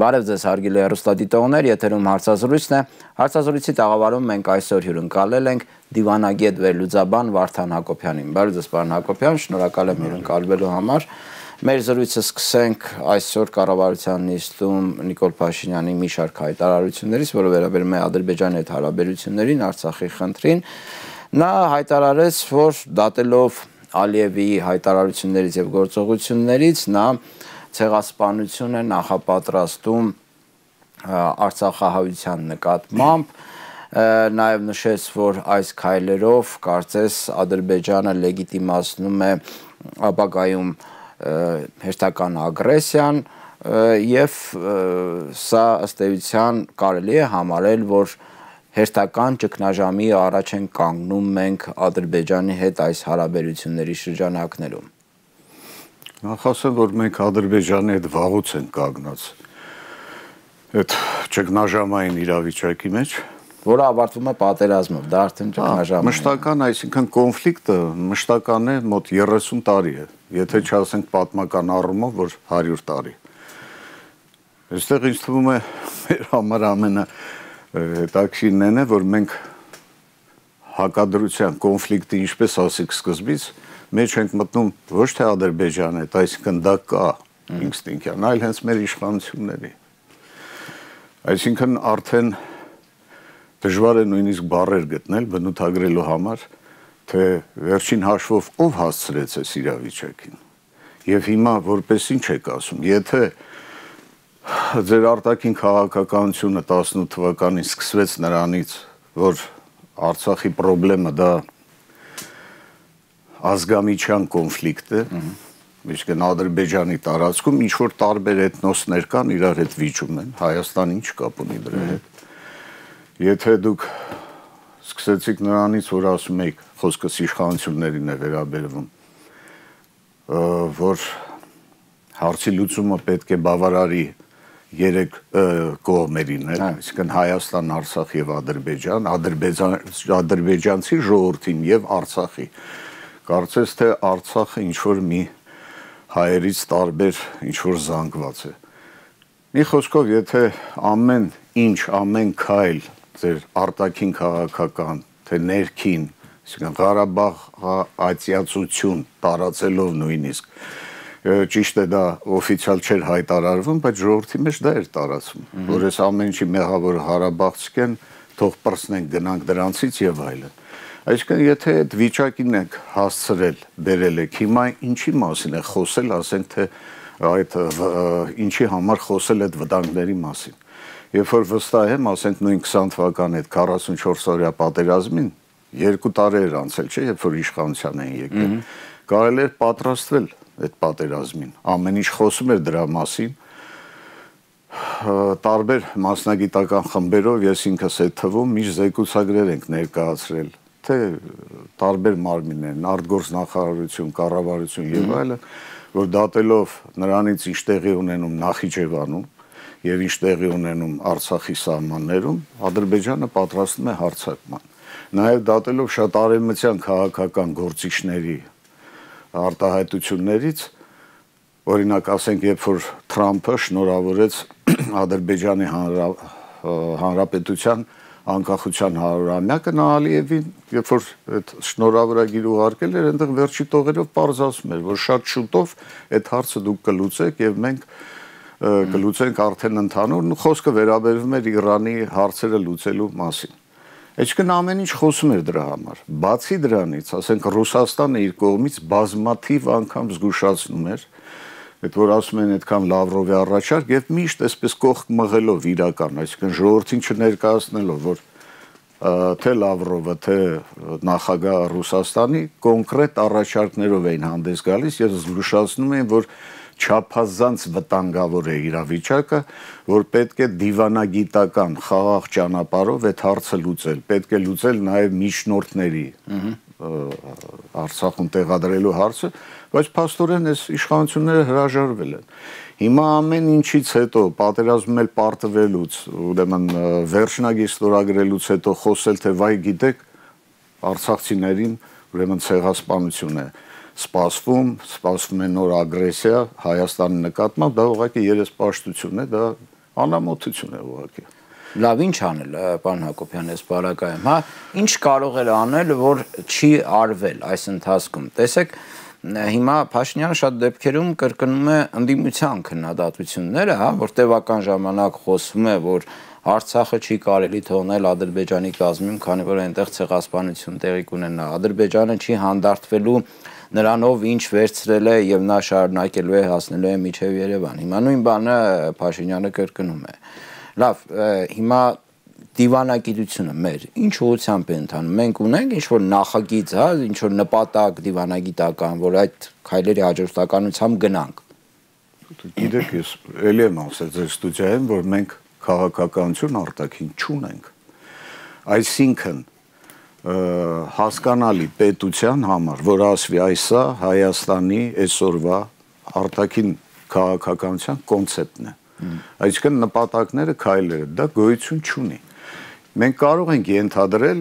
Բարև ձեզ հարգելի հեռուստադիտողներ, եթերում հարցազրույցն է։ Հարցազրույցի տաղավարում մենք այսօր հյուրընկալել ենք դիվանագետ վերլուծաբան Վարդան Հակոբյանին։ Բարև ձեզ, պարոն Հակոբյան, շնորհակալ եմ հյուրընկալվելու համար։ Մեր զրույցը սկսենք այսօր կառավարության նիստում Նիկոլ Փաշինյանի մի շարք հայտարարություններից, որը վերաբերում է Ադրբեջանի հետ հարաբերություններին, Արցախի խնդրին։ Նա հայտարարեց, որ դատելով Ալիևի հայտարարություններից եւ գործողություններից նա ցեղասպանություն է նախապատրաստում Արցախահայության նկատմամբ, նաև նշեց, որ այս քայլերով կարծես Ադրբեջանը լեգիտիմացնում է ապագայում հերթական ագրեսիան եւ սա ըստ էության կարելի է համարել, որ հերթական ճգնաժամի առաջ են կանգնում մենք Ադրբեջանի հետ այս հարաբերությունների շրջանակներում։ Նախ ասեմ, որ մենք Ադրբեջանի հետ վաղուց ենք կանգնած այդ ճգնաժամային իրավիճակի մեջ, որը ավարտվում է պատերազմով, դա արդեն ճգնաժամ է։ Մշտական, այսինքն կոնֆլիկտը մշտական է մոտ 30 տարի է, եթե չասենք պատմական առումով, որ 100 տարի։ Այստեղ ինձ թվում է մեր համար ամենահետաքրքիրն է, որ մենք հակադրության կոնֆլիկտի, ինչպես ասեք սկզբից, մեջ ենք մտնում ոչ թե Ադրբեջանի հետ, այսինքն դա կա ինստինկտիվ, այլ հենց մեր իշխանությունների։ Այսինքն արդեն դժվար է նույնիսկ բառեր գտնել բնութագրելու համար, թե վերջին հաշվով ով հասցրեց այս իրավիճակին։ Եվ հիմա որպես ինչ եք ասում, եթե ձեր արտաքին քաղաքականությունը 18 թվականին սկսվեց նրանից, որ Արցախի խնդրը դա ազգամիջյան կոնֆլիկտ է, այսինքն Ադրբեջանի տարածքում ինչ որ տարբեր էթնոսներ կան, իրար հետ վիճում են, Հայաստանը ինչ կապ ունի դրա հետ։ Եթե դուք սկսեցիք նրանից, որ ասում եք, խոսքս իշխանություններին է վերաբերվում, որ հարցի լուծումը պետք է բավարարի 3 կողմերին, այսինքն Հայաստան, Արցախ եւ Ադրբեջան, ադրբեջանցի ժողովրդին եւ Արցախի։ Կարծես թե Արցախը ինչ որ մի հայերից տարբեր ինչ որ զանգված է։ Մի խոսքով, եթե ամեն ինչ, ամեն քայլ ձեր արտաքին քաղաքական, թե ներքին, այսինքն Ղարաբաղ ատյացություն տարածելով նույնիսկ, ճիշտ է դա օֆիցիալ չէր հայտարարվում, բայց ժողովրդի մեջ դա էր տարածվում, որ այս ամեն ինչի մեղավոր Ղարաբաղցիք են, թող պրծնենք գնանք դրանցից եւ այլն։ Այսինքն եթե այդ վիճակին եք հասցրել, բերել եք, հիմա ինչի մասին է խոսել, ասենք թե այդ ինչի համար խոսել այդ վտանգների մասին։ Երբ որ վստահ եմ, ասենք նույն 20 թվականի այդ 44-օրյա պատերազմին 2 տարի էր անցել, չէ, երբ որ իշխանության էին եկել, կարելի էր պատրաստվել այդ պատերազմին, ամեն ինչ խոսում էր դրա մասին, տարբեր մասնագիտական խմբերով, ես ինքս այդ թվում միշտ զեկուցագրեր ենք ներկայացրել, թե տարբեր մարմիններ, արտգործնախարարություն, կառավարություն եւ այլն, որ դատելով նրանից ինչ տեղի ունենում Նախիջևանում եւ ինչ տեղի ունենում Արցախի սահմաններում, Ադրբեջանը պատրաստվում է հարձակման։ Նաեւ դատելով շատ արևմտյան քաղաքական գործիչների արտահայտություններից, օրինակ ասենք, երբ որ Թրամփը շնորհավորեց Ադրբեջանի Հանրապետության անկախության 100-ամյակը, նա Ալիևին, երբ որ այդ շնորհավորագիր ուղարկել էր, այնտեղ վերջի տողերով պարզ ասում էր, որ շատ շուտով այդ հարցը դուք կլուծեք եւ մենք կլուծենք արդեն ընդհանուր, խոսքը վերաբերվում էր Իրանի հարցերը լուծելու մասին։ Այսինքն ամեն ինչ խոսում էր դրա համար։ Բացի դրանից, ասենք Ռուսաստանը իր կողմից բազմաթիվ անգամ զգուշացնում էր, այդ որ ասում են այդքան Լավրովի առաջարկ եւ միշտ այսպես կողք մղելով իրական, այսինքն ժողովրդին չներկայացնելով, որ թե Լավրովը, թե նախագահ Ռուսաստանի կոնկրետ առաջարկներով էին հանդես գալիս եւ զգուշացնում էին, որ չափազանց վտանգավոր է իրավիճակը, որ պետք է դիվանագիտական խաղաղ ճանապարհով այդ հարցը լուծել, պետք է լուծել նաև միջնորդների Արցախում տեղադրելու հարցը, բայց փաստորեն այս իշխանությունները հրաժարվել են։ Հիմա ամեն ինչից հետո պատերազմում էլ պարտվելուց, ուրեմն վերջնագիր ստորագրելուց հետո խոսել, թե վայ գիտեք, արցախցիներին ուրեմն ցեղասպանություն է սպասվում է նոր ագրեսիա Հայաստանի նկատմամբ, դա ուղղակի երեսպաշտություն է, դա Անամոթություն է ուղղակի։ Լավ, ինչ անել, պարոն Հակոբյան, այս բարակայում, հա, ինչ կարող էր անել, որ չի արվել այս ընթացքում։ Տեսեք, հիմա Փաշինյանը շատ դեպքերում կրկնում է ընդդիմության քննադատությունները, հա, որ տևական ժամանակ խոսում է, որ Արցախը չի կարելի թողնել Ադրբեջանի կազմում, քանի որ այնտեղ ցեղասպանություն տեղի կունենա։ Ադրբեջանը չի հանդարտվելու նրանով ինչ վերցրել է եւ նա շարունակելու է հասնելու է միջև Երևան։ Հիմա նույն բանը Փաշինյանը կրկնում է։ Լավ, հիմա դիվանագիտությունը մեր ինչ ուղղությամբ է ընթանում։ Մենք ունենք ինչ-որ նախագիծ, հա, ինչ-որ նպատակ դիվանագիտական, որ այդ քայլերի հաջորդականությամբ գնանք։ Գիտեք, ես ելի եմ ասել ձեր ստուդիայում, որ մենք քաղաքականություն արտաքին չունենք։ Այսինքն հասկանալի պետության համար, որ ասվի այսա Հայաստանի այսօրվա արտաքին քաղաքականության կոնցեպտն է։ Այսինքն նպատակները, քայլերը, դա գոյություն չունի։ Մենք կարող ենք ենթադրել,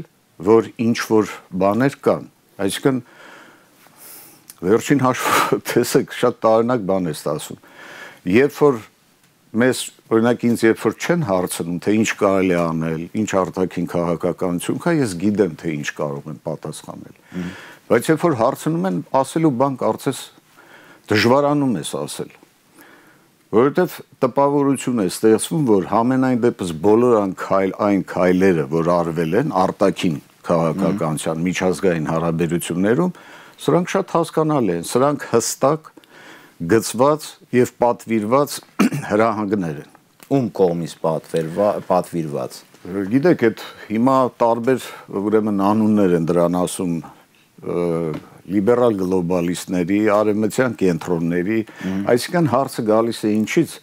որ ինչ որ բաներ կան։ Այսինքն վերջին հաշվով տեսեք, շատ տարօրինակ բան է ասում։ Երբ որ մեզ օրինակ ինձ երբ որ չեն հարցնում, թե ինչ կարելի է անել, ինչ արտաքին քաղաքականություն կա, ես գիտեմ, թե ինչ կարող եմ պատասխանել։ Բայց երբ որ հարցնում են, ասելու բան կարծես դժվարանում ես ասել։ Որովհետև տպավորություն է ստեղծվում, որ համենայն դեպս բոլոր այն քայլերը, որ արվել են արտաքին քաղաքականության միջազգային հարաբերություններում, սրանք շատ հասկանալի են, սրանք հստակ գծված եւ պատվիրված հրահանգներ են։ Ում կողմից պատվիրված։ Գիտեք, այդ հիմա տարբեր ուրեմն անուններ են դրան ասում լիբերալ գլոբալիստների, արևմտյան կենտրոնների, այսինքն հարցը գալիս է ինչից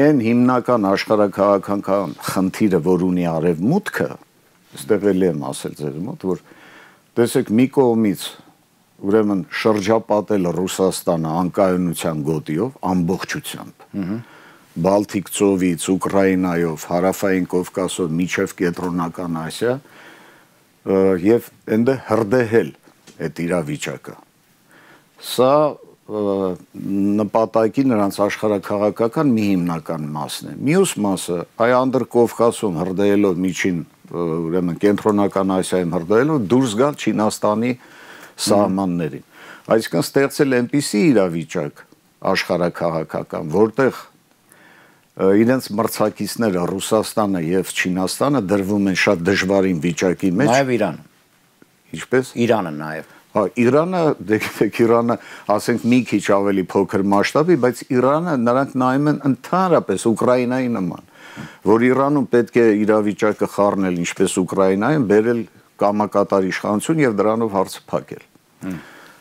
այն հիմնական աշխարհաքաղաքական խնդիրը, որ ունի արևմուտքը, այստեղ էլի եմ ասել ձեր մոտ, որ տեսեք մի կողմից ուրեմն շրջապատել Ռուսաստանը անկայունության գոտիով ամբողջությամբ, Բալթիկ ծովից, Ուկրաինայով, Հարավային Կովկասով միջև Կենտրոնական Ասիա եւ այնտեղ հրդեհել այդ իրավիճակը։ Սա նպատակի նրանց աշխարհաքաղաքական մի հիմնական մասն է։ Մյուս մասը այ Անդրկովկասում հրդեհելով միջին ուրեմն Կենտրոնական Ասիայում հրդեհելով դուրս գալ Չինաստանի սահմաններին։ Այսինքն ստեղծել այնպիսի իրավիճակ աշխարհաքաղաքական, որտեղ իրենց մրցակիցները Ռուսաստանը եւ Չինաստանը դրվում են շատ դժվարին վիճակի մեջ։ Նաեւ Իրանը։ Ինչպես։ Իրանը նաեւ։ Հա, Իրանը, դեպք Իրանը, ասենք մի քիչ ավելի փոքր մասշտաբի, բայց Իրանը նրանք նայում են ընդհանրապես Ուկրաինայի նման, որ Իրանում պետք է իրավիճակը խառնել ինչպես Ուկրաինայում, բերել կամակատար իշխանություն եւ դրանով հարցը փակել։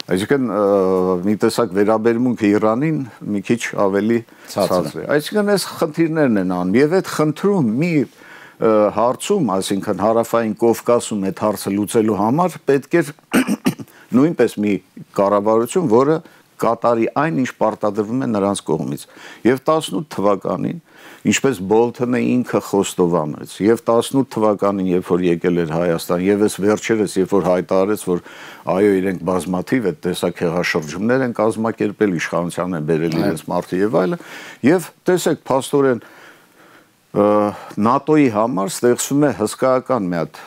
Այսինքն մի տեսակ վերաբերմունքը Իրանին մի քիչ ավելի ցածր է։ Այսինքն այս խնդիրներն են անում եւ այդ խնդրում մի հարցում, այսինքն Հարավային Կովկասում այդ հարցը լուծելու համար պետք է նույնպես մի կառավարություն, որը կատարի այն, ինչ պարտադրվում է նրանց կողմից։ Եվ 18 թվականին, ինչպես Բոլթոնը ինքը խոստովանեց, եւ 18 թվականին, երբ որ եկել էր Հայաստան, եւ այս վերջերս, երբ որ հայտարարեց, որ այո, իրենք բազմաթիվ այդ տեսակ հեղաշրջումներ են կազմակերպել, իշխանության են բերել իրենց մարդը եւ այլը, եւ տեսեք, փաստորեն ՆԱՏՕ-ի համար ստեղծվում է հսկայական մի հատ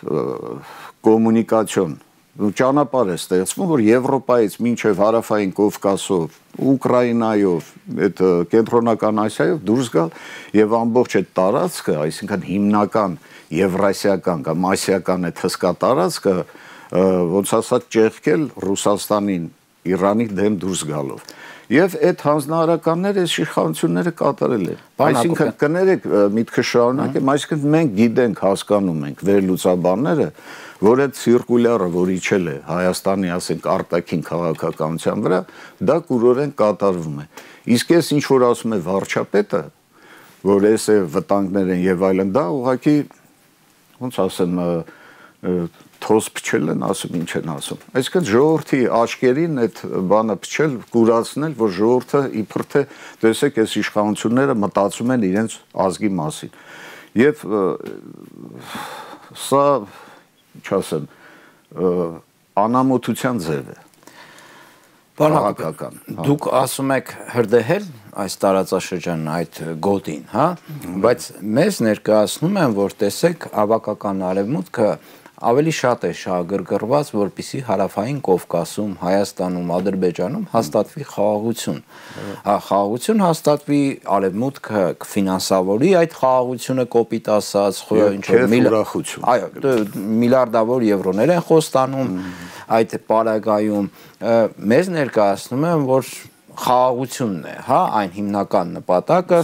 կոմունիկացիոն ճանապարհ է ստեղծվում, որ Եվրոպայից մինչև Հարավային Կովկասով, Ուկրաինայով, այդ Կենտրոնական Ասիայով դուրս գալ եւ ամբողջ այդ տարածքը, այսինքն հիմնական եվրասիական կամ ասիական այդ հսկա տարածքը, ոնց ասած ճեղքել Ռուսաստանին, Իրանի դեմ դուրս գալով։ Եվ այդ հանձնարարականները այս իշխանությունները կատարել են։ Այսինքն կներեք միտքը շարունակեմ, այսինքն մենք գիտենք, հասկանում ենք վերլուծաբանները, որ այդ ցիրկուլյարը, որ իջել է Հայաստանի, ասենք, արտաքին քաղաքականության վրա, դա կուրորեն կատարվում է։ Իսկ ես ինչ որ ասում է վարչապետը, որ այս է վտանգներ են եւ այլն, դա ուղղակի ոնց ասեմ, թոս փչել են, ասում ինչ են ասում։ Այսինքն ժողովրդի աչքերին այդ բանը փչել, կուրացնել, որ ժողովուրդը իբր թե տեսեք այս իշխանությունները մտածում են իրենց ազգի մասին։ Եվ սա, ինչ ասեմ, անամոթության ձև է։ քաղաքական։ Դուք ասում եք հրդեհել այս տարածաշրջանն այդ գոտին, հա, բայց մեզ ներկայացնում են, որ տեսեք, ավակական արևմուտքը ավելի շատ է շահագրգռված, որպեսզի հարավային Կովկասում, Հայաստանում, Ադրբեջանում հաստատվի խաղաղություն։ Խաղաղություն հաստատվի, արևմուտքը կֆինանսավորի այդ խաղաղությունը կոպիտ ասած, միլիարդավոր եվրոներ են խոստանում այդ պարագայում։ Մեզ ներկայացնում են, որ խաղաղությունն է, հա, այն հիմնական նպատակը,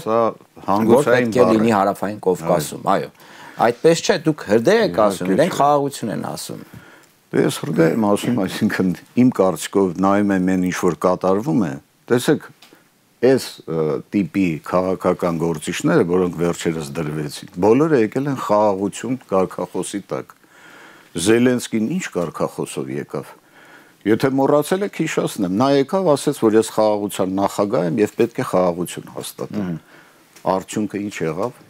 որ պետք է լինի հարավային Կովկասում, այո։ Այդպես չէ, դուք հրդեհ եք ասում, իրենք խաղաղություն են ասում։ Ես հրդեհ եմ ասում, այսինքն իմ կարծիքով նայում եմ այն ինչ որ կատարվում է, տեսեք, այս տիպի քաղաքական գործիչները, որոնք վերջերս դրվեցին, բոլորը եկել են խաղաղություն կարգախոսի տակ։ Զելենսկին ինչ կարգախոսով եկավ։ Եթե մոռացել եք, հիշեցնեմ, նա եկավ, ասաց, որ ես խաղաղության նախագահ եմ եւ պետք է խաղաղություն հաստատեմ։ Արդյունքը ինչ եղավ։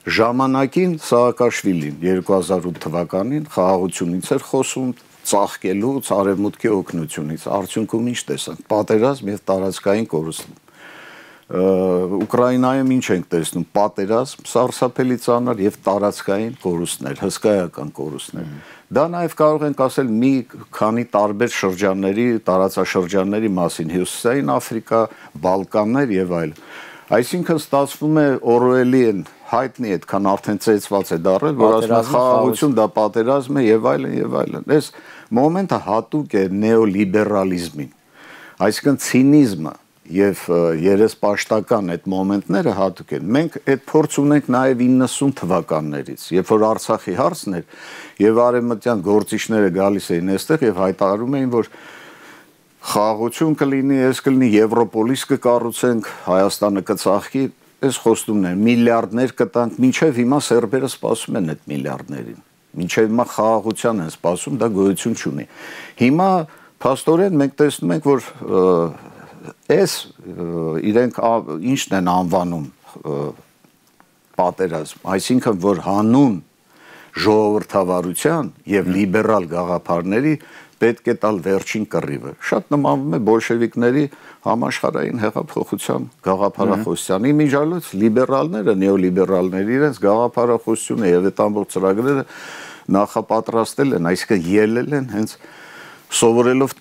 Ժամանակին Սաակաշվիլին 2008 թվականին խաղաղությունից էր խոսում, ծաղկելուց, արևմուտքի օգնությունից, արդյունքում ինչ տեսանք, պատերազմ եւ տարածքային կորուստ։ Ուկրաինայում ինչ ենք տեսնում, պատերազմ, սարսափելի ծանր եւ տարածքային կորուստներ, հսկայական կորուստներ։ Դա նաեւ կարող ենք ասել մի քանի տարբեր շրջանների, տարածաշրջանների մասին, Հյուսիսային Աֆրիկա, Բալկաններ եւ այլն։ Այսինքն ստացվում է Օրուելի են հայտնի այդքան արդեն ծեծված է դառել, որ ասում է խաղաղություն դա պատերազմ է եւ այլն եւ այլն։ Այս մոմենտը հատուկ է նեոլիբերալիզմին։ Այսինքն ցինիզմը եւ երեսպաշտական այդ մոմենտները հատուկ են։ Մենք այդ փորձ ունենք նաեւ 90 թվականներից, երբ որ Արցախի հարցն էր եւ արևմտյան գործիչները գալիս էին այստեղ եւ հայտարարում էին, որ խաղաղություն կլինի, այս կլինի Եվրոպոլիս կկառուցենք, Հայաստանը կծաղկի, այս խոստումներ, միլիարդներ կտանք, մինչև հիմա սերբերը սպասում են այդ միլիարդներին։ Մինչև հիմա խաղաղության են սպասում, դա գոյություն չունի։ Հիմա փաստորեն մենք տեսնում ենք, որ այս իրենք ինչն են անվանում պատերազմ, այսինքն որ հանուն ժողովրդավարության եւ լիբերալ գաղափարների պետք է տալ վերջին կռիվը։ Շատ նմանվում է բոլշևիկների համաշխարհային հեղափոխության գաղափարախոսությանի միջալոց լիբերալները, նեոլիբերալները իրենց գաղափարախոսությունը եւ այդ ամբողջ ծրագրերը նախապատրաստել են, այսինքն ելել են հենց սովորելով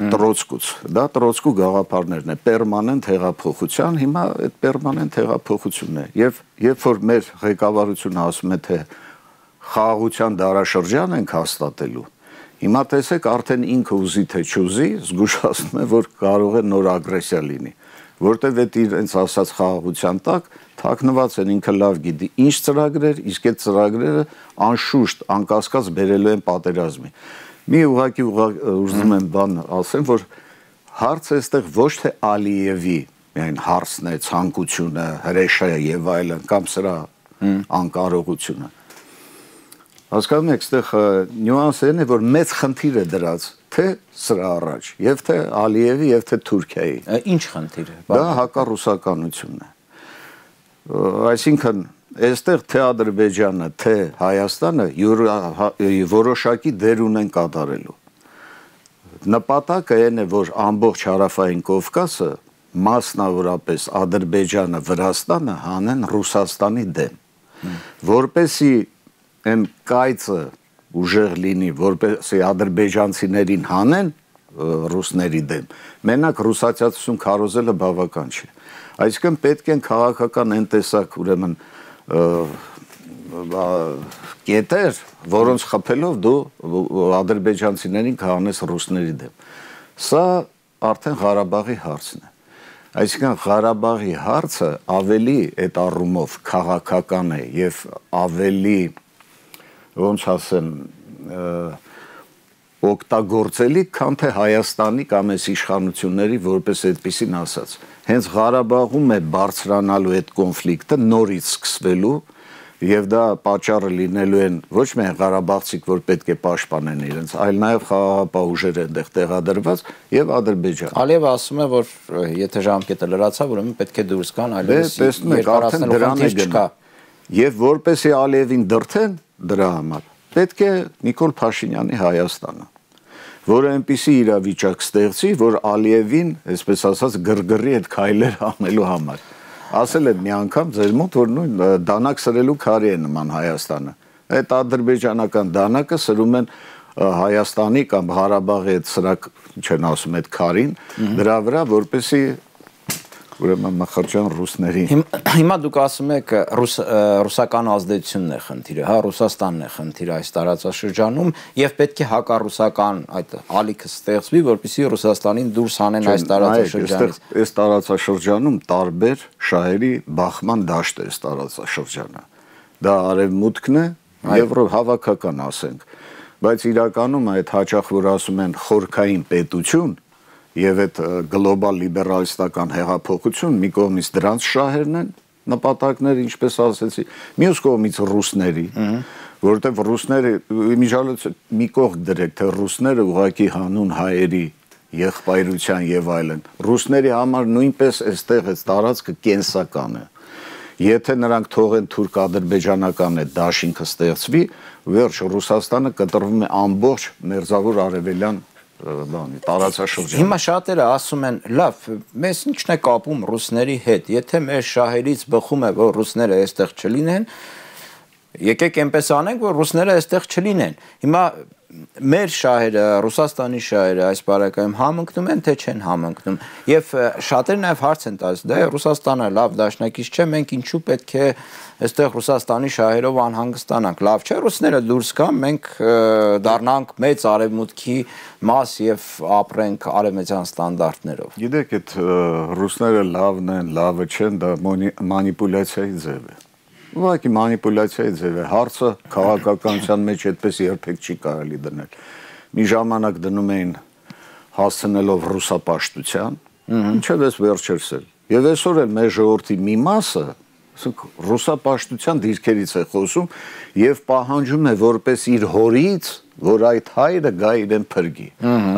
Տրոցկուց, դա Տրոցկու գաղափարներն է, պերմանենտ հեղափոխության, հիմա այդ պերմանենտ հեղափոխությունն է, եւ երբ որ մեր ղեկավարությունը ասում է, թե խաղաղության դարաշրջան ենք հաստատելու, հիմա տեսեք արդեն ինքը ուզի թե չուզի, զգուշացնում է, որ կարող է նոր ագրեսիա լինի, որտեվ այդ իրենց ասած խաղաղության տակ թաքնված են, ինքը լավ գիտի ինչ ծրագրեր, իսկ այդ ծրագրերը անշուշտ, անկասկած բերելու են պատերազմի։ Մի ուղղակի ուզում եմ բան ասեմ, որ հարցը այստեղ ոչ թե Ալիևի միայն հարցն է, ցանկությունը, հրեշը եւ այլն, կամ սրա անկարողությունը։ Հասկանում եք, այստեղ նյուանսն է, որ մեծ խնդիր է դրած թե սրա առաջ, եւ թե Ալիևի, եւ թե Թուրքիայի։ Ինչ խնդիր է։ Դա հակառուսականությունն է։ Այսինքն այստեղ թե Ադրբեջանը, թե Հայաստանը որոշակի դեր ունեն կատարելու։ Նպատակը այն է, որ ամբողջ հարավային Կովկասը, մասնավորապես Ադրբեջանը, Վրաստանը հանեն Ռուսաստանի դեմ, որպեսի այն կայծը ուժեղ լինի, որպեսի ադրբեջանցիներին հանեն ռուսների դեմ, մենակ ռուսացիացություն քարոզելը բավական չէ։ Այսինքն պետք են քաղաքական այն տեսակ, ուրեմն կետեր, որոնց խփելով դու ադրբեջանցիներին կհանես ռուսների դեմ։ Սա արդեն Ղարաբաղի հարցն է։ Այսինքն Ղարաբաղի հարցը ավելի այդ առումով քաղաքական է եւ ավելի, ոնց ասեմ, օգտագործելի, քան թե Հայաստանի կամ այս իշխանությունների որպես այդպեսին ասած։ Հենց Ղարաբաղում է բարձրանալու այդ կոնֆլիկտը, նորից սկսվելու, եւ դա պատճառը լինելու են ոչ միայն ղարաբաղցիք, որ պետք է պաշտպանեն իրենց, այլ նաեւ խաղաղապահ ուժեր այնտեղ տեղադրված եւ Ադրբեջան։ Ալիևը ասում է, որ եթե ժամկետը լրացավ, ուրեմն պետք է դուրս գան, այլևս տեսնում եք, արդեն դրան է գնա։ Եվ որպեսի Ալիևին դրթեն դրա համար, պետք է Նիկոլ Փաշինյանի Հայաստանը։ որը այնպիսի իրավիճակ ստեղծի, որ Ալիևին, այսպես ասած, գրգռի այդ քայլեր անելու համար։ Ասել եմ մի անգամ ձեր մոտ, որ նույն դանակ սրելու քարի է նման Հայաստանը։ Այդ ադրբեջանական դանակը սրում են Հայաստանի կամ Ղարաբաղի այդ սրակ, ինչ են ասում, այդ քարին, դրա վրա, որպեսի ուրեմն մխրջան ռուսների։ Հիմա դուք ասում եք ռուսական ազդեցությունն է խնդիրը, հա, Ռուսաստանն է խնդիրը այս տարածաշրջանում եւ պետք է հակառուսական այդ ալիքը ստեղծվի, որպեսզի Ռուսաստանին դուրս հանեն այս տարածաշրջանից։ Այս տարածաշրջանում տարբեր շահերի բախման դաշտ է այս տարածաշրջանը։ Դա արևմուտքն է եւ հավաքական ասենք, բայց իրականում այդ հաճախ որ ասում են խորքային պետություն եւ այդ գլոբալ լիբերալիստական հեղափոխություն մի կողմից դրանց շահերն են նպատակները, ինչպես ասեցի, մյուս կողմից ռուսների, որովհետեւ ռուսները մի կողմ դրեք, թե ռուսները ուղղակի հանուն հայերի եղբայրության եւ այլն, ռուսների համար նույնպես այստեղ այս տարածքը կենսական է։ Եթե նրանք թողեն թուրք-ադրբեջանական այդ դաշինքը ստեղծվի, վերջ Ռուսաստանը կտրվում է ամբողջ մերձավոր արևելյան տարածաշրջան։ Հիմա շատերը ասում են, լավ, մեզ ինչն է կապում ռուսների հետ, եթե մեր շահերից բխում է, որ ռուսները այստեղ չլինեն, եկեք այնպես անենք, որ ռուսները այստեղ չլինեն։ Հիմա մեր շահերը, Ռուսաստանի շահերը այս բարակայում համընկնում են, թե չեն համընկնում։ Եվ շատերը նաև հարց են տալիս, դե Ռուսաստանը լավ դաշնակից չէ, մենք ինչու պետք է այստեղ Ռուսաստանի շահերով անհանգստանանք։ Լավ չէ, ռուսները դուրս գան, մենք դառնանք մեծ արևմուտքի մաս եւ ապրենք արևմտյան ստանդարտներով։ Գիտեք, այդ ռուսները լավն են, լավը չեն, դա մանիպուլյացիայի ձև է։ Ուղղակի մանիպուլյացիայի ձև է, հարցը քաղաքականության մեջ այդպես երբեք չի կարելի դնել։ Մի ժամանակ դնում էին հասցնելով ռուսապաշտության, ինչև էս վերջերսել։ Եվ այսօր էլ մեր ժողովրդի մի մասը, ասենք ռուսապաշտության դիրքերից է խոսում եւ պահանջում է որպես իր հորից, որ այդ հայրը գա իրեն փրկի։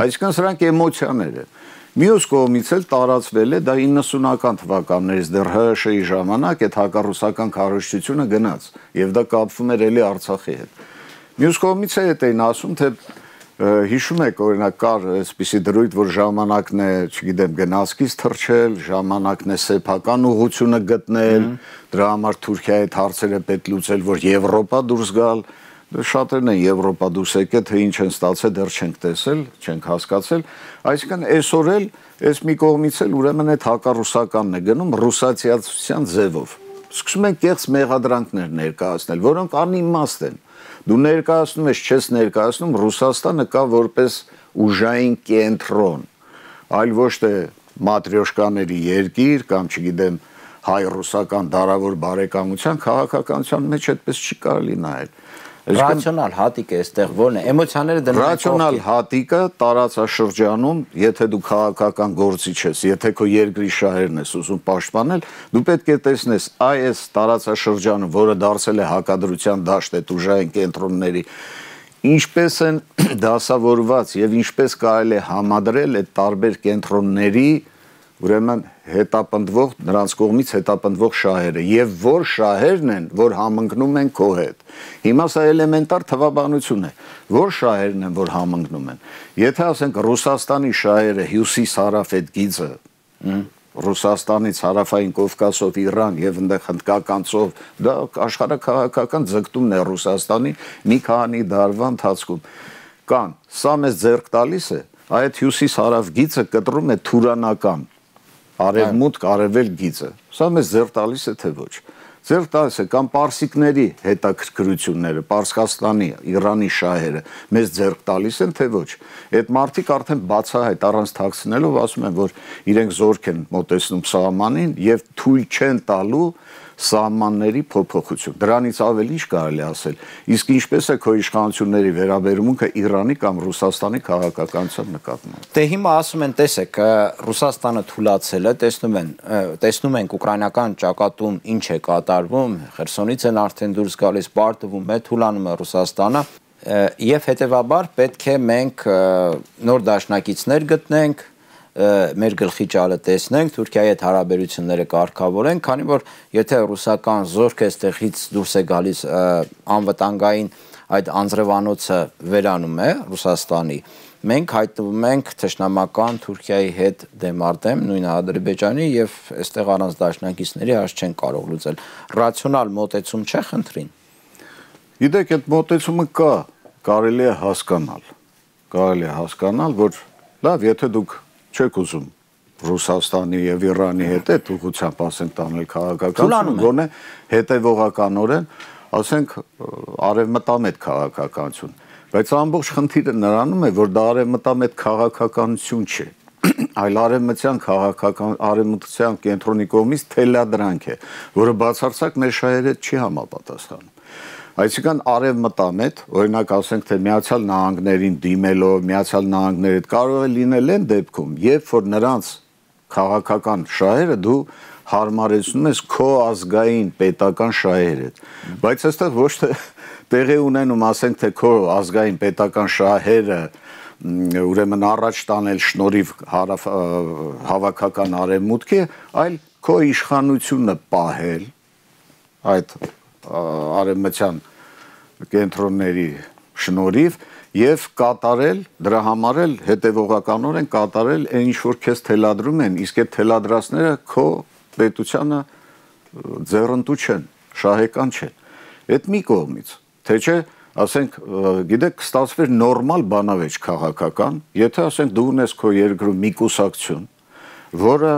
Այսինքն սրանք էմոցիաներ են։ Մյուս կողմից էլ տարածվել է դա 90-ական թվականներից դեռ ՀՀՇ-ի ժամանակ այդ հակառուսական քարոզչությունը գնաց եւ դա կապվում էր էլի Արցախի հետ։ Մյուս կողմից է այդ էին ասում, թե հիշում եք օրինակ կար այսպիսի դրույթ, որ ժամանակն է, չգիտեմ, գնացքից թռչել, ժամանակն է սեփական ուղղությունը գտնել, դրա համար Թուրքիայի հետ հարցերը պետք լուծել, որ Եվրոպա դուրս գալ։ Շատերն են Եվրոպա դուրս եկել, թե ինչ են ստացել, դեռ չենք տեսել, չենք հասկացել։ Այսինքն այսօր էլ այս մի կողմից էլ ուրեմն այդ հակառուսականն է գնում ռուսացիացության ձևով։ Սկսում են կեղծ մեղադրանքներ ներկայացնել, որոնք անիմաստ են։ Դու ներկայացնում ես, չես ներկայացնում, Ռուսաստանը կա որպես ուժային կենտրոն, այլ ոչ թե մատրյոշկաների երկիր կամ չգիտեմ հայ-ռուսական դարավոր բարեկամության քաղաքականության մեջ այդպես չի կարելի նայել։ Ռացիոնալ հատիկը այստեղ ո՞րն է։ Էմոցիաները դնում են։ Ռացիոնալ հատիկը տարածաշրջանում, եթե դու քաղաքական գործիչ ես, եթե քո երկրի շահերն ես ուզում պաշտպանել, դու պետք է տեսնես այս տարածաշրջանը, որը դարձել է հակադրության դաշտ այդ ուժային կենտրոնների, ինչպես են դասավորված եւ ինչպես կարելի է համադրել այդ տարբեր կենտրոնների ուրեմն հետապնդվող նրանց կողմից հետապնդվող շահերը եւ որ շահերն են, որ համընկնում են քո հետ։ Հիմա սա էլեմենտար թվաբանություն է, որ շահերն են, որ համընկնում են։ Եթե ասենք Ռուսաստանի շահերը հյուսիս-հարավ այդ գիծը, Ռուսաստանից հարավային Կովկասով Իրան եւ այնտեղ հնդկական ծով, դա աշխարհաքաղաքական ձգտումն է Ռուսաստանի մի քանի դարվա ընթացքում։ Կան, սա մեզ ձեռք տալիս է, այդ հյուսիս-հարավ գիծը կտրում է թուրանական արևմուտք արևել գիծը։ Սա մեզ ձեռք տալիս է թե ոչ։ Ձեռք տալիս է կամ պարսիկների հետաքրքրությունները, Պարսկաստանի, Իրանի շահերը մեզ ձեռք տալիս են թե ոչ։ Այդ մարդիկ արդեն բացահայտ առանց թաքցնելով ասում են, որ իրենք զորք են մոտեցնում սահմանին եւ թույլ չեն տալու սահմանների փոփոխություն։ Դրանից ավելի ինչ կարելի ասել։ Իսկ ինչպես է քո իշխանությունների վերաբերմունքը Իրանի կամ Ռուսաստանի քաղաքականության նկատմամբ։ Դե հիմա ասում են, տեսեք, Ռուսաստանը թուլացել է, տեսնում ենք ուկրաինական ճակատում ինչ է կատարվում, Խերսոնից են արդեն դուրս գալիս, պարտվում է, թուլանում է Ռուսաստանը, եւ հետեւաբար պետք է մենք նոր դաշնակիցներ գտնենք, մեր գլխի ճալը տեսնենք, Թուրքիայի հետ հարաբերությունները կարգավորենք, քանի որ եթե ռուսական զորք այստեղից դուրս է գալիս անվտանգային այդ անձրևանոցը վերանում է Ռուսաստանի, մենք հայտնվում ենք թշնամական Թուրքիայի հետ դեմարտեմ, նույն Ադրբեջանի եւ այստեղ առանց դաշնակիցների հաշ չեն կարող լուծել։ Ռացիոնալ մոտեցում չէ խնդրին։ Գիտեք, այդ մոտեցումը կա, կարելի է հասկանալ, որ լավ, եթե դուք չեք ուզում Ռուսաստանի եւ Իրանի հետ այդ ուղղությամբ ասենք տանել քաղաքականություն, գոնե հետեւողականորեն ասենք արևմտամետ քաղաքականություն, բայց ամբողջ խնդիրը նրանում է, որ դա արևմտամետ քաղաքականություն չէ, այլ արևմտյան կենտրոնի կողմից թելադրանք է, որը բացարձակ մեր շահերի հետ չի համապատասխանում։ Այսինքն արևմտամետ, օրինակ ասենք թե Միացյալ Նահանգներին դիմելով, Միացյալ Նահանգների հետ կարող է լինել այն դեպքում, երբ որ նրանց քաղաքական շահերը դու հարմարեցնում ես քո ազգային պետական շահերի հետ, բայց այստեղ ոչ թե տեղի ունենում, ասենք թե քո ազգային պետական շահերը ուրեմն առաջ տանել շնորհիվ հավաքական արևմուտքի, այլ քո իշխանությունը պահել այդ արևմտյան կենտրոնների շնորհիվ եւ կատարել դրա համար էլ հետեւողականորեն կատարել այն ինչ որ քեզ թելադրում են, իսկ այդ թելադրածները քո պետությանը ձեռնտու չեն, շահեկան չեն։ Այդ մի կողմից, թե չէ, ասենք, գիտեք, ստացվեր նորմալ բանավեճ քաղաքական, եթե ասենք դու ունես քո երկրում մի կուսակցություն, որը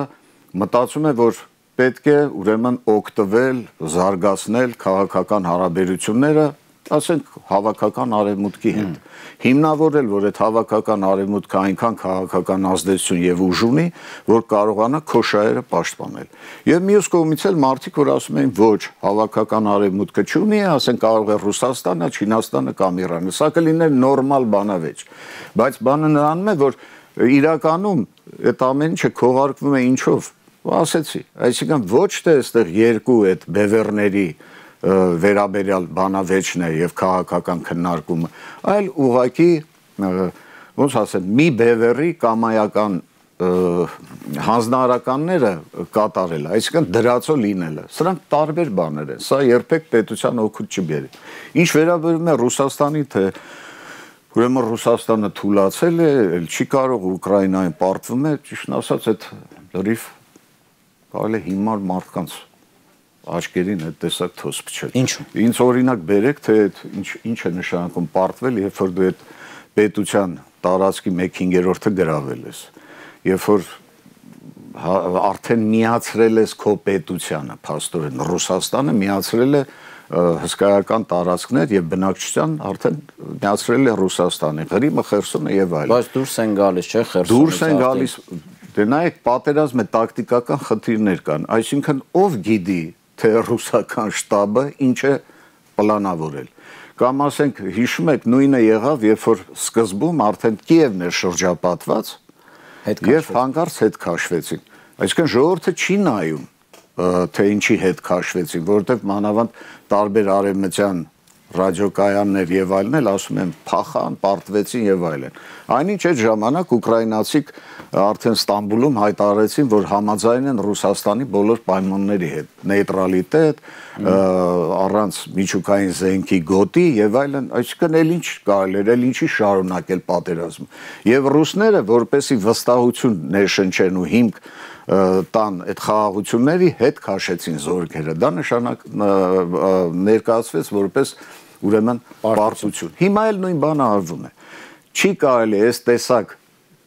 մտածում է, որ պետք է ուրեմն օգտվել, զարգացնել քաղաքական հարաբերությունները, ասենք հավաքական արևմուտքի հետ։ Հիմնավորել, որ այդ հավաքական արևմուտքը այնքան քաղաքական ազդեցություն եւ ուժ ունի, որ կարողանա քո շահերը պաշտպանել։ Եվ մյուս կողմից էլ մարդիկ, որ ասում են, ոչ, հավաքական արևմուտքը չունի, ասենք կարող է Ռուսաստանը, Չինաստանը կամ Իրանը։ Սա կլիներ նորմալ բանավեճ։ Բայց բանը նրանում է, որ իրականում այդ ամեն ինչը քողարկվում է ինչով։ Ասեցի, այսինքն ոչ թե այստեղ երկու այդ բևեռների վերաբերյալ բանավեճն է եւ քաղաքական քննարկումը, այլ ուղղակի ոնց ասեմ, մի բևեռի կամայական հանձնարարականները կատարել, այսինքն դրածո լինելը։ Սրանք տարբեր բաներ են, սա երբեք պետության օգուտ չբերի։ Ինչ վերաբերում է Ռուսաստանի, թե ուրեմն Ռուսաստանը թուլացել է, չի կարող Ուկրաինային պարտվում է, ճիշտն ասած, այդ լրիվ կարելի է հիմար մարդկանց աչքերին այդ տեսակ թոս փչել։ Ինչու՞։ Ինձ օրինակ բերեք, թե ինչ է նշանակում պարտվել, երբ որ դու այդ պետության տարածքի 1/5-ը գրավել ես, երբ որ արդեն միացրել ես քո պետությանը, փաստորեն Ռուսաստանը միացրել է հսկայական տարածքներ եւ բնակչության արդեն միացրել է Ռուսաստանի, Ղրիմը, Խերսոնը եւ այլն։ Բայց դուրս են գալիս, չէ՞, Խերսոնից։ Դուրս են գալիս, դե նայեք, պատերազմի տակտիկական խնդիրներ կան, այսինքն ով գիտի, թե ռուսական շտաբը ինչ է պլանավորել։ Կամ ասենք, հիշում եք, նույնը եղավ, երբ որ սկզբում արդեն Կիևն էր շրջապատված եւ հանկարծ հետ քաշվեցին։ Այսինքն ժողովուրդը չի նայում, թե ինչի հետ քաշվեցին, որովհետեւ մանավանդ տարբեր արևմտյան ռադիոկայաններ եւ այլն էլ ասում են փախան, պարտվեցին եւ այլն։ Այնինչ այդ ժամանակ ուկրաինացիք արդեն Ստամբուլում հայտարարեցին, որ համաձայն են Ռուսաստանի բոլոր պայմանների հետ, նեյտրալիտետ, առանց միջուկային զենքի գոտի եւ այլն, այսինքն էլ ինչ կարելի էր, էլ ինչի շարունակել պատերազմը։ Եվ ռուսները, որպեսի վստահություն ներշնչեն ու հիմք տան այդ խաղաղությունների հետ քաշեցին զորքերը։ Դա նշանակ ներկայացվեց որպես ուրեմն պարտություն։ Հիմա էլ նույն բանը արվում է։ Չի կարելի այս տեսակ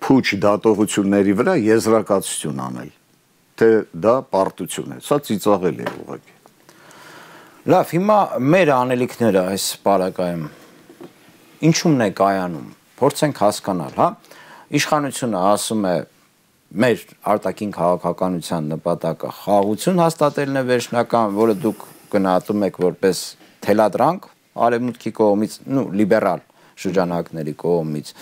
փուչ դատողությունների վրա եզրակացություն անել, թե դա պարտություն է։ Սա ծիծաղելի է ուղղակի։ Լավ, հիմա մեր անելիքները այս պարագայում ինչումն է կայանում։ Փորձենք հասկանալ, հա։ Իշխանությունը ասում է մեր արտաքին քաղաքականության նպատակը խաղաղություն հաստատելն է վերջնական, որը դուք գնահատում եք որպես թելադրանք արևմուտքի կողմից, լիբերալ շրջանակների կողմից։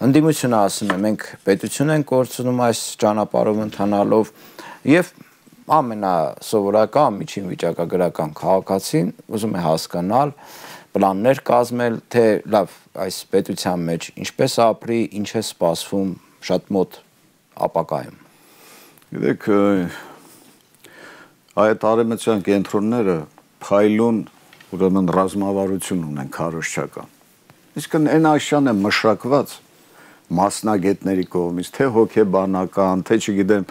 Ընդդիմությունը ասում է, մենք պետություն ենք կորցնում այս ճանապարհով ընթանալով եւ ամենասովորական միջին վիճակագրական քաղաքացին ուզում է հասկանալ, պլաններ կազմել, թե լավ, այս պետության մեջ ինչպես ապրի, ինչ է սպասվում շատ մոտ ապակայում։ Գիտեք, այդ արևմտյան կենտրոնները փայլուն ուրեմն ռազմավարություն ունեն քարոզչական։ Իսկ այն աշյանը մշակված մասնագետների կողմից, թե հոգեբանական, թե չգիտեմ,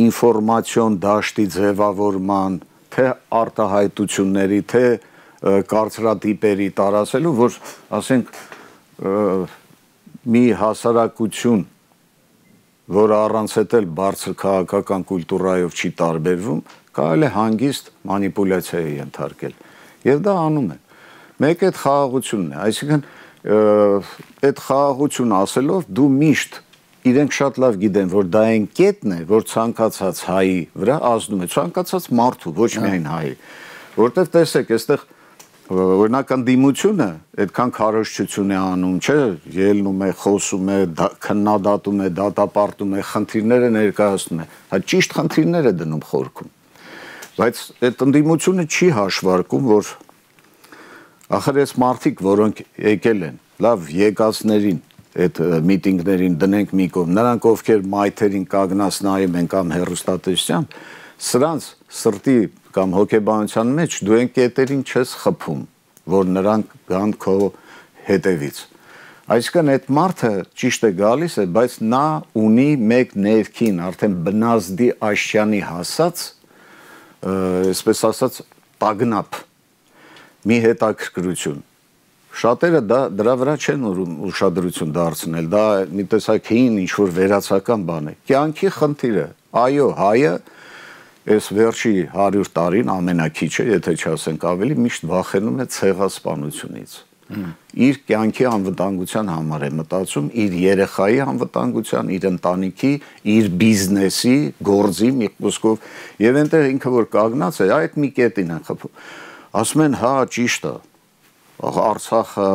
ինֆորմացիոն դաշտի ձևավորման, թե արտահայտությունների, թե կարծրատիպերի տարածելու, որ ասենք մի հասարակություն, որը առանց էլ բարձր քաղաքական կուլտուրայով չի տարբերվում, կարելի է հանգիստ մանիպուլյացիայի ենթարկել։ Եվ դա անում են։ Մեկ այդ խաղաղությունն է, այսինքն այդ խաղաղություն ասելով դու միշտ իրենք շատ լավ գիտեն, որ դա այն կետն է, որ ցանկացած հայի վրա ազդում է, ցանկացած մարդու, ոչ միայն հայի, որտեվ տեսեք, այստեղ օրինակ ընդդիմությունը այդքան քարոզչություն է անում, չէ, ելնում է, խոսում է, քննադատում է, դատապարտում է, խնդիրները ներկայացնում է, հա ճիշտ խնդիրներ է դնում խորքում, բայց այդ ընդդիմությունը չի հաշվարկում, որ ախր այս մարդիկ, որոնք եկել են, լավ եկածներին այդ միտինգներին դնենք մի կողմ, նրանք ովքեր մայթերին կանգնած նայում են կամ հեռուստատեսությամբ, սրանց սրտի կամ հոգեբանության մեջ դու այն կետերին չես խփում, որ նրանք գան քո հետևից։ Այսինքն այդ մարդը ճիշտ է գալիս է, բայց նա ունի մեկ ներքին, արդեն բնազդի աշյանի հասած, այսպես ասած, տագնապ, մի հետաքրքրություն։ Շատերը դրա վրա չեն ուշադրություն դարձնել, դա մի տեսակ հին ինչ-որ վերացական բան է։ Կյանքի խնդիրը, այո, հայը այս վերջի 100 տարին ամենակիչը, եթե չասենք ավելի, միշտ վախենում է ցեղասպանությունից։ Իր կյանքի անվտանգության համար է մտածում, իր երեխայի անվտանգության, իր ընտանիքի, իր բիզնեսի, գործի մի խոսքով, եւ այնտեղ ինքը որ կանգնած է, այդ մի կետին են խփում։ Ասում են, հա, ճիշտ է։ Արցախը,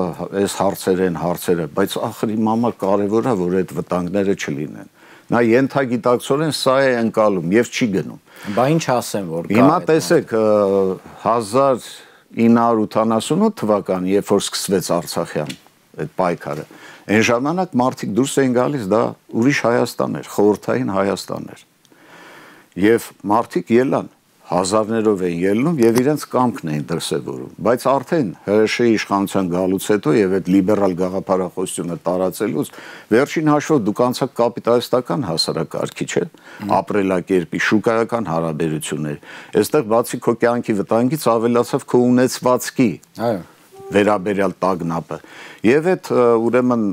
այս հարցերը, բայց ախր իմ համար կարևոր է, որ այդ վտանգները չլինեն։ Նա ենթագիտակցորեն սա է ընկալում եւ չի գնում։ Բա ինչ ասեմ, որ կա։ Հիմա տեսեք 1988 թվականի, երբ որ սկսվեց Արցախյան այդ պայքարը, այն ժամանակ մարդիկ դուրս էին գալիս, դա ուրիշ Հայաստան էր, խորհրդային Հայաստան էր։ Եվ մարդիկ ելան հազարներով են ելնում եւ իրենց կամքն էին դրսևորում, բայց արդեն ՀՀՇ-ի իշխանության գալուց հետո եւ այդ լիբերալ գաղափարախոսությունը տարածելուց վերջին հաշվով դուք անցաք կապիտալիստական հասարակարգի, չէ՞, ապրելակերպի, շուկայական հարաբերություններ։ Այստեղ բացի քո կյանքի վտանգից ավելացավ քո ունեցվածքի վերաբերյալ տագնապը։ Եվ այդ ուրեմն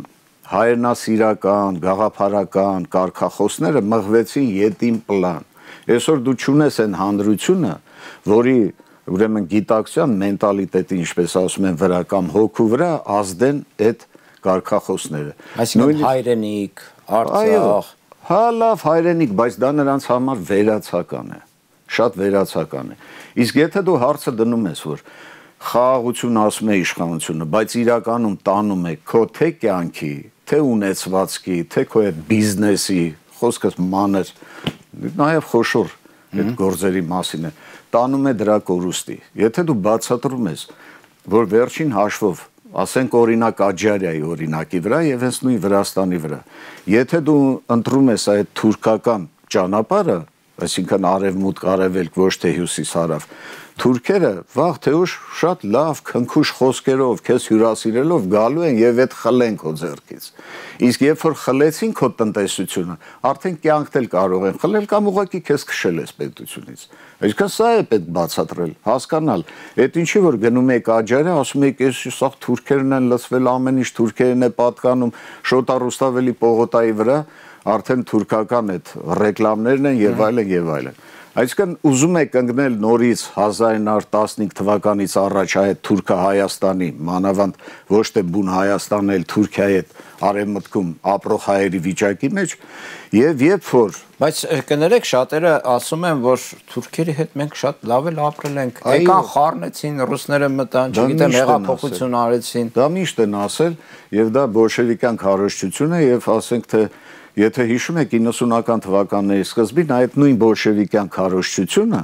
հայրենասիրական, գաղափարական կարգախոսները մղվեցին ետին պլան։ Այսօր դու չունես այն հանրությունը, որի ուրեմն գիտակցության մենտալիտետի, ինչպես ասում են, վրա կամ հոգու վրա ազդեն այդ կարգախոսները։ Այսինքն հայրենիք, Արցախ։ Հա, լավ հայրենիք, բայց դա նրանց համար վերացական է, շատ վերացական է։ Իսկ եթե դու հարցը դնում ես, որ խաղաղություն ասում է իշխանությունը, բայց իրականում տանում է քո թե կյանքի, թե ունեցվածքի, թե քո այդ բիզնեսի, խոսքս մանր, նաև խոշոր այդ գործերի մասին է, տանում է դրա կորուստի։ Եթե դու բացատրում ես, որ վերջին հաշվով, ասենք օրինակ Աջարիայի օրինակի վրա եւ հենց նույն Վրաստանի վրա, եթե դու ընտրում ես այդ թուրքական ճանապարհը, այսինքն արևմուտք, արևելք, ոչ թե հյուսիս-հարավ, թուրքերը վաղ թե ուշ շատ լավ քնքուշ խոսքերով քեզ հյուրասիրելով գալու են եւ այդ խլեն քո ձեռքից։ Իսկ երբ որ խլեցին քո տնտեսությունը, արդեն կյանքդ էլ կարող են խլել կամ ուղղակի քեզ քշել ես պետությունից։ Այսինքն սա է պետք բացատրել, հասկանալ։ Այդ ինչի որ գնում եք Աջարիա, ասում եք, այս սա թուրքերն են լցվել, ամեն ինչ թուրքերն է պատկանում, Շոտա Ռուստավելի պողոտայի վրա արդեն թուրքական այդ ռեկլամներն են եւ այլն եւ այլն։ Այսինքն ուզում եք ընկնել նորից 1915 թվականից առաջ այդ Թուրքա-Հայաստանի, մանավանդ ոչ թե բուն Հայաստանն էլ Թուրքիայի հետ արևմտքում ապրող հայերի վիճակի մեջ եւ երբ որ բայց կներեք շատերը ասում են որ թուրքերի հետ մենք շատ լավ էլ ապրել ենք եկան խառնեցին ռուսները մտան չգիտեմ հեղափոխություն արեցին դա միշտ են ասել եւ դա բոլշևիկյան քարոզչություն է եւ ասենք թե եթե հիշում եք 90-ական թվականների սկզբին այդ նույն բոլշևիկյան քարոզչությունը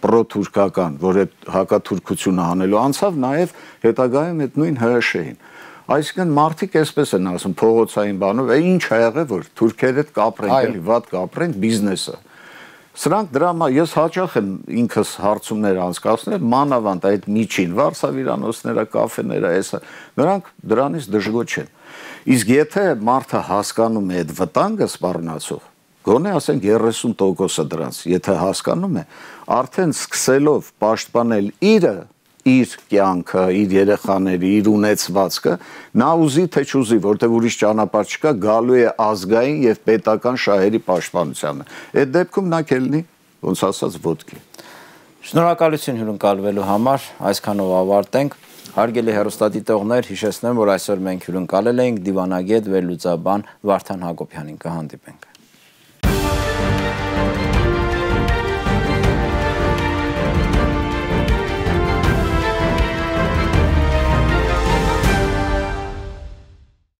պրոթուրքական, որ այդ հակաթուրքությունը անելու անցավ նաև հետագայում այդ նույն ՀՀՇ-ին։ Այսինքն մարդիկ այսպես են ասում փողոցային բանով, ինչ ա եղել որ թուրքերը հետ կապրենք, էլի վատ կապրենք բիզնեսը։ Սրանք դրամա ես հաճախ եմ ինքս հարցումներ անցկացնել, մանավանդ այդ միջին վարսավիրանոցները, կաֆեները, էսա, նրանք դրանից դժգոհ չեն։ Իսկ եթե մարդը հասկանում է այդ վտանգը սպառնացող, գոնե ասենք 30% դրանց, եթե հասկանում է, արդեն սկսելով պաշտպանել իր կյանքը, իր երեխաների, իր ունեցվածքը, նա ուզի թե չուզի, որտեղ ուրիշ ճանապարհ չկա, գալու է ազգային եւ պետական շահերի պաշտպանությանը։ Այդ դեպքում նա կլինի, ոնց ասած, ոտքի։ Շնորհակալություն հյուրընկալվելու համար, այսքանով ավարտենք։ Հարգելի հեռուստադիտողներ, հիշեցնեմ, որ այսօր մենք հյուրընկալել էինք դիվանագետ վերլուծաբան Վարդան Հակոբյանին, կհանդիպենք։